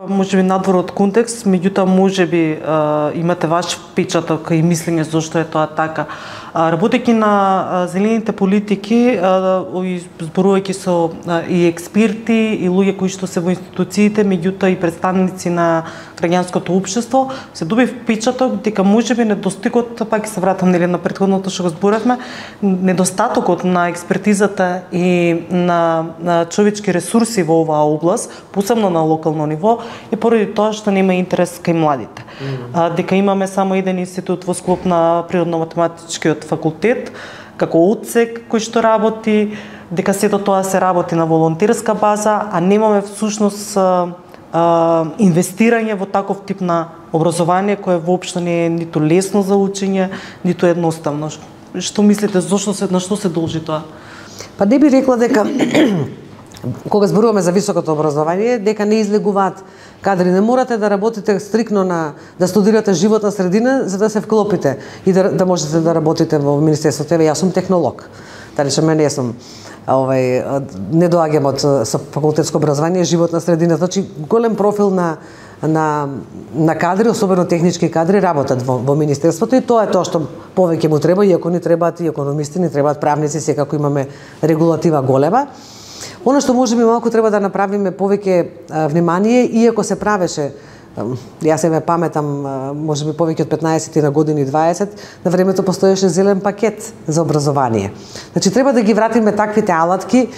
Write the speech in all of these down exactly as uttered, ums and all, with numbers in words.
Може би надвор од контекст, меѓутоа може би имате ваш впечаток и мислење зошто е тоа така. Работејќи на зелените политики, зборувајќи со и експерти и луѓе кои што се во институциите, меѓутоа и представници на граѓанското општество, се доби впечаток дека можеби недостигот, пак се вратам нели на претходното што го зборавме, недостатокот на експертизата и на, на човечки ресурси во оваа област, посебно на локално ниво, е поради тоа што нема интерес кај младите. Mm-hmm. а, дека имаме само еден институт во склоп на природно-математичкиот факултет, како одсек кој што работи, дека сето тоа се работи на волонтерска база, а немаме всушност а, а, инвестирање во таков тип на образование кое воопшто не е ниту лесно за учење, ниту едноставно. Што мислите, зошто се, на што се должи тоа? Па не би рекла дека кога зборуваме за високото образование, дека не излегуваат кадри. Не морате да работите стрикно на да студирате животна средина за да се вклопите и да, да можете да работите во Министерството. Еве, јас сум технолог. Дали што мене сум овај не доаѓам од со факултетско образование, животна средина, значи голем профил на на на кадри, особено технички кадри работат во, во Министерството и тоа е тоа што повеќе му треба, иако ни требаат и економисти, ни требаат правници, секако имаме регулатива голема. Оно што можеби малку треба да направиме повеќе внимание, иако се правеше, јас се ме паметам, можеби повеќе од петнаесет на години дваесет, на времето постоеше зелен пакет за образование. Значи треба да ги вратиме таквите алатки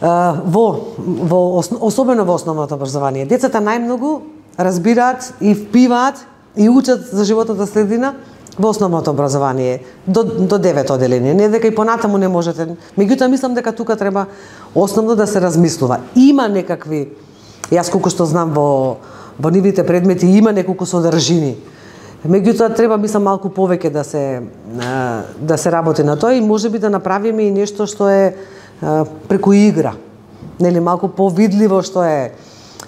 во во особено во основното образование. Децата најмногу разбираат и впиваат и учат за животната средина во основното образование до до девето оделение. Не дека и понатаму не можете. Меѓутоа мислам дека тука треба основно да се размислува. Има некакви, јас колку што знам во во нивните предмети има неколку содржини. Меѓутоа треба мислам малку повеќе да се да се работи на тоа и можеби да направиме и нешто што е преку игра. Нели малку повидливо што е.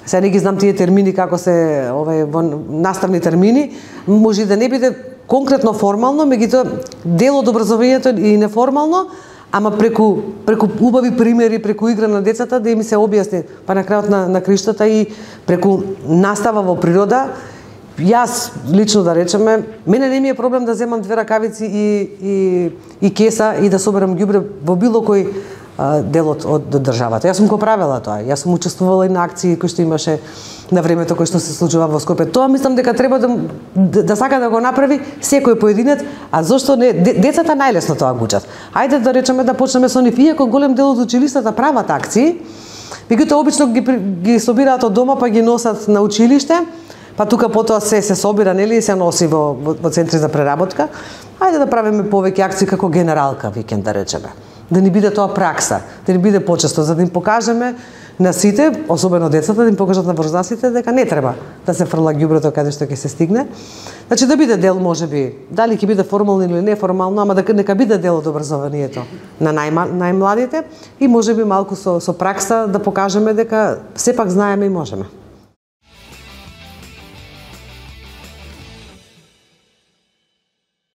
Сега не ги знам тие термини како се овај во наставни термини, може да не биде конкретно формално, меѓутоа дел од образованието и неформално, ама преку преку убави примери, преку игра на децата да им се објасни, па на крајот на на криштата и преку настава во природа. Јас лично да речеме, мене не ми е проблем да земам две ракавици и и и кеса и да соберам ѓубре во било кој дел од, од државата. Јас сум го правела тоа. Јас сум учествувала и на акции кои што имаше на времето кој што се случува во Скопје. Тоа мислам дека треба да, да, да сака да го направи секој поединец, а зошто не? Децата најлесно тоа го учат. Ајде да речеме да почнеме со нив, иако голем дел од училиштата прават акции, меѓутоа обично ги ги собираат од дома па ги носат на училиште, па тука потоа се се собира, нели, и се носи во, во, во центри за преработка. Ајде да правиме повеќе акции како генералка викенд да речеме. Да ни биде тоа пракса, да ни биде почесто, за да им покажеме на сите, особено децата, да им покажат на возрастните дека не треба да се фрла ѓубрето каде што ќе се стигне. Значи да биде дел, можеби, дали ќе биде формално или неформално, ама дека нека биде дел од образованието на најма, најмладите и можеби малку со со пракса да покажеме дека сепак знаеме и можеме.